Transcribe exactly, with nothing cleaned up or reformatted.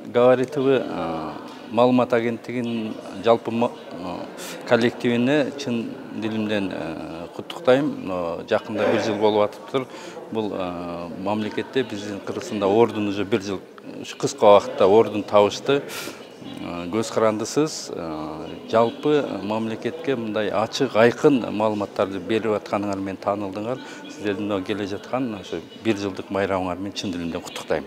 Говорит.тв маалымат агенттигинин жалпы коллективине чын дилимден куттуктайм. Жакында бир жыл болуп атыптыр. Бул мамлекетте биздин Кыргызстанда ордун уже бир жыл кыска убакытта ордун табышты. Көз карандысыз жалпы мамлекетке мындай ачык, айкын маалыматтарды берип атканыңар менен таанылдыңар. Сиздердин келе жаткан ошо бир жылдык майрамыңар менен чын дилимден куттуктайм.